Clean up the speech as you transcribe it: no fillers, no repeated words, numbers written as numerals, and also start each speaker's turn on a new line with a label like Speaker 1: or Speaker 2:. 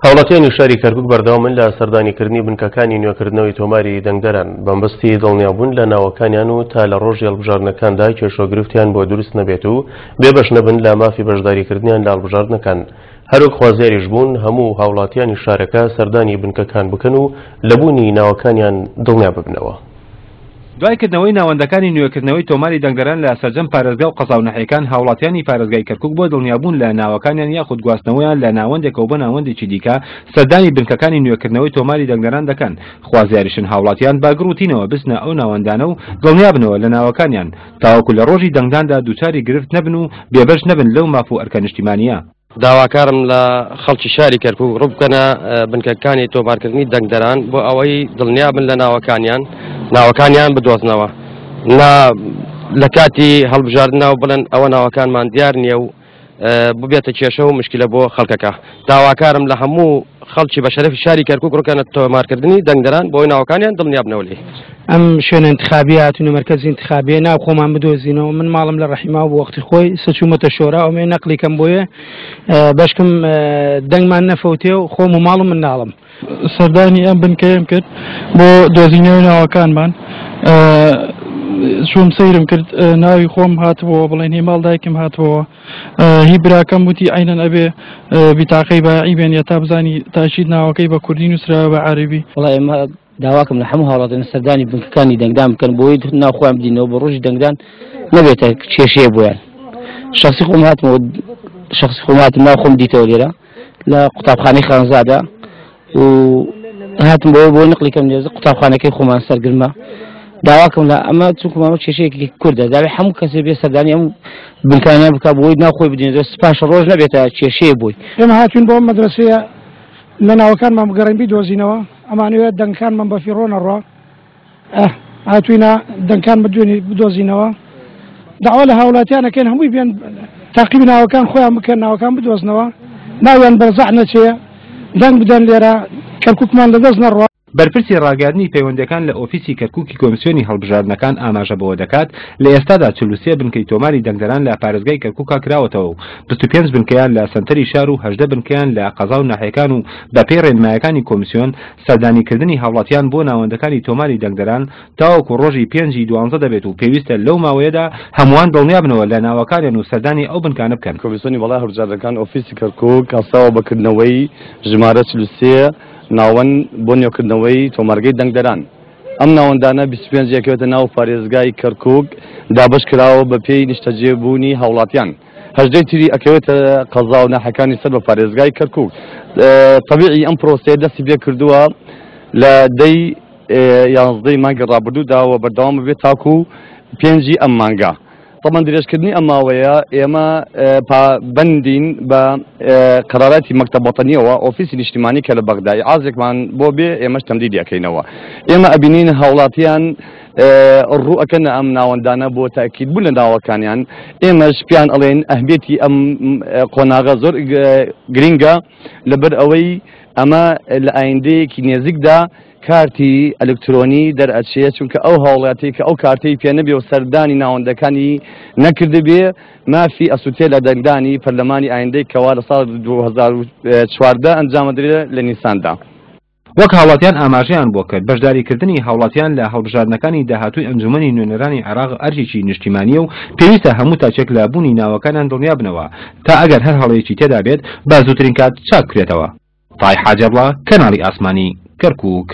Speaker 1: هاوڵاتیانی شاری کەرکوک بەردەوامن لە سەردانیکردنی بنکەکانی نوێکردنەوەی تۆماری دەنگدەران بەمبەستی دڵنیابوون لە ناوەکانیان و تا لە ڕۆژی هەڵبژاردنەکاندا کێشە و گرفتیان بۆ دروست نەبێت و بێبەش نەبن لە مافی بەشداریکردنیان لە هەڵبژاردنەکان. هەروەک خوازیاریش بوون هەموو هاوڵاتیانی شارەکە سەردانی بنکەکان بکەن و لە بوونی ناوەکانیان دڵنیا ببنەوە.
Speaker 2: دوای کردنەوەی ناوەندەکانی نوێکردنەوەی تۆماری دەنگدەران لە سەرجەم پارێزگا و قەزا و ناحیەکان، هاوڵاتیانی پارێزگای کەرکوک بۆ دڵنیابوون لە ناوەکانیان یاخود گواستنەوەیان لە ناوەندێکەوە بۆ ناوەندێکی دیکە سەردانی بنکەکانی نوێکردنەوەی تۆماری دەنگدەران دەکەن، خوازیاریشن هاوڵاتیان بە گڕ و تینەوە بچنە ئەو ناوەندانە و دڵنیابنەوە لە ناوەکانیان تاوەکو لە ڕۆژی دەنگداندا دووچاری گرفت نەبن و بێبەش نەبن لەو ماف و ئەرکە نیشتیمانییە.
Speaker 3: داواکارم لە خەڵکی شاری کەرکوک ڕووبکەنە بنکەکانی تۆمارکردنی دەنگدەران بۆ ئەوەی دڵنیابن لە ناوەکانیان ناوەکانیان بدۆزنەوە نا لە کاتی هەڵبژاردنەوە بڵێن ئەوە ناوەکانمان دیار نییە و ببێتە کێشە و مشکلە بۆ خەڵکەکە داواکارم لە هەموو خەڵکی بە شەرەفی شاری کەرکوک ڕووکەنە تۆمارکردنی دەنگدەران بۆی ناوەکانیان دڵنیابنەوە لێی.
Speaker 4: ئەم شوێنە انتخابیە هاتوینە مەرکەزی انتخابیە ناو خۆمان بدۆزینەوە من ماڵم لە ڕەحیماو بۆ وەختی خۆی سە چوومەتە شۆرا ئەومێ نەقلی کەم بۆیە بەشکم دەنگمان نەفەوتێ و خۆم و ماڵ و منداڵم.
Speaker 5: سەردانی ئەم بنکەیەم کرد بۆ دۆزینەوەی ناوەکانمان چووم سەیرم کرد ناوی خۆم هاتبووە بڵێن هی ماڵ دایکم هاتبووە هی براکەم وتی عەینەن ئەبێ بیتاقەی بایعی بێنیە تا بزانی تاکید ناوەکەی بە کوردی نووسراوە بە عەرەبی.
Speaker 6: وەڵا ئێمە داواکەم لە هەموو هاوڵاتیان سەردانی بنکەکانی دەنگدان بکەن بۆی ناو خۆیان بدینەوە بۆ ڕۆژی دەنگدان نەبێتە کێشەیە بۆیان. شخصی خۆم هاتمەوە شخصی خۆم هاتم ناو خۆم دیتەوە لێرە لە قوتابخانەی خانزادە و هاتم بۆ بۆ نقلی کەم لێزە قوتابخانەکەی خۆمان سەرگرمە داواکەم لە ئەمە چونکە مامە کێشەیەکی کوردە داوێ هەموو کەسێ بێ سەردانی ئەم بنکانە بکە بۆی ناو خۆی بدێنێت سپاش ڕۆژ نەبێتە کێشەیە بۆی.
Speaker 5: ئێمە هاتوین بۆ ئەم مەدرەسەیە لە ناوەکانمان بگەڕێین بیدۆزینەوە ئەمانەوێت دەنگەکانمان بەفیڕۆ نەڕوا هاتوینە دەنگکان بدوێنی بدۆزینەوە داوا لە هاوڵاتیان ئەکەین هەمووی بێن تاقیب ناوەکان خۆیان بکەن ناوەکان بدۆزنەوە ناویان بەرزەح نەچێ دەنگ بدەن لێرە کەرکوکمان لەدەست نەڕوا.
Speaker 2: بەرپرسی ڕاگەیاندنی پەیوەندییەکان لە ئۆفیسی کەرکوکی کۆمسیۆنی هەڵبژاردنەکان ئاماژە بەوە دەکات، لە ئێستادا 43 بنکەی تۆماری دەنگدەران لە پارێزگای کەرکوکا کراوەتەوە و 25 بنکەیان لە سەنتەری شار و 18 بنکەیان لە قەزا و ناحیەکان و بەپێی ڕێنمایەکانی کۆمسیۆن سەردانیکردنی هاوڵاتیان بۆ ناوەندەکانی تۆماری دەنگدەران تاوەکو ڕۆژی پێنج ی دوانزە دەبێت و پێویستە لەو ماوەیەدا هەمووان دڵنیابنەوە لە ناوەکانیان و سەردانی ئەو بنکانە بکەن.
Speaker 3: کۆمیسیۆنی باڵای هەڵبژاردنەکان ئۆفیسی کەرکوک هەستاوە بە کردنەوەی ژمارە 43 ناوەند بۆ نوێکردنەوەی تۆمارگەی دەنگدەران. ئەم ناوەندانە 25 ئەکەوێتە ناو پارێزگای کەرکوک دابەشکراوە بەپێی نیشتەجێبوونی هاوڵاتیان. هەژدەی تری ئەکەوێتە قەزا و ناحیەکانی سەر بە پارێزگای کەرکوک. تەبیعی ئەم پرۆسەیە دەستی پێکردووە لە دەی یانزدەی مانگی ڕابردوودا و بەردەوام بێت تاکو پێنجی ئەم مانگە. تەبەن درێژکردنی ئەم ماوەیە ئێمە پابەندین بە قەراراتی مەکتەب وەتەنیەوە ئۆفیسی نیشتیمانی کە لە بەغدا ئیعازێکمان بۆ بێ ئێمەش تەمدیدی ئەکەینەوە. ئێمە ئەبینین هاوڵاتیان ڕوو ئەکەنە ئەم ناوەندانە بۆ تاکید بوون لە ناوەکانیان، ئێمەش پێیان ئەڵێن ئەهمیەتی ئەم قۆناغە زۆر گرینگە لەبەر ئەوەی ئەمە لە ئایندەیەکی نێزیکدا کارتی ئەلکترۆنی دەرئەچێ، چونکە ئەو هاوڵاتیەی کە ئەو کارتەی پێ نەبێ و سەردانی ناوەندەکانی نەکردبێ مافی ئەسوتێ لە دەنگدانی پەرلەمانی ئایندەی کەوا لە ساڵ 2014 ئەنجامەدرێ لە نیساندا.
Speaker 2: وەک هاوڵاتیان ئاماژەیان بۆ کرد، بەشداریکردنی هاوڵاتیان لە هەڵبژاردنەکانی داهاتووی ئەنجومەنی نوێنەرانی عێراق ئەرکێکی نیشتیمانییە و پێویستە هەموو تاکێک لە بوونی ناوەکانیان دڵنیابنەوە تا ئەگەر هەر هەڵەیەکی تێدا بێت بە زووترین کات چاکبکرێتەوە. تای حاجی عەبڵا، کەناڵی ئاسمانی، کەرکووک.